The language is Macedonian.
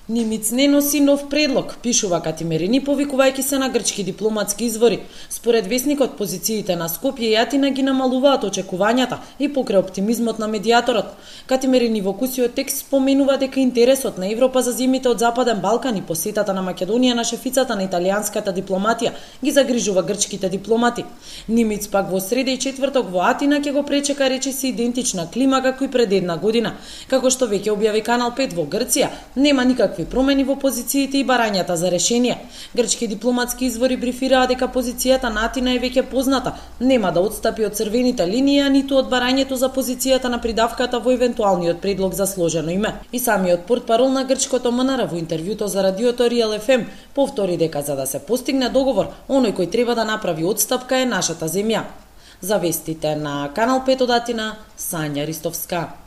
Нимиц не носи нов предлог, пишува Катимерини, повикувајќи се на грчки дипломатски извори. Според весникот, позициите на Скопје и Атина ги намалуваат очекувањата и покрај оптимизмот на медијаторот. Катимерини во кусиот текст споменува дека интересот на Европа за земјите од Западен Балкан и посетата на Македонија на шефицата на италијанската дипломатија ги загрижува грчките дипломати. Нимиц пак во среда и четврток во Атина ќе го пречека речиси идентична клима како и пред една година. Како што веќе објави Канал 5 во Грција, нема никакви промени во позициите и барањата за решение. Грчки дипломатски извори брифираа дека позицијата на Атина е веќе позната, нема да отстапи од црвените линии, ниту од барањето за позицијата на придавката во евентуалниот предлог за сложено име. И самиот портпарол на грчкото МНР во интервјуто за радиото Реал ФМ повтори дека за да се постигне договор, оној кој треба да направи отстапка е нашата земја. За вестите на Канал 5 од Атина, Сања Ристовска.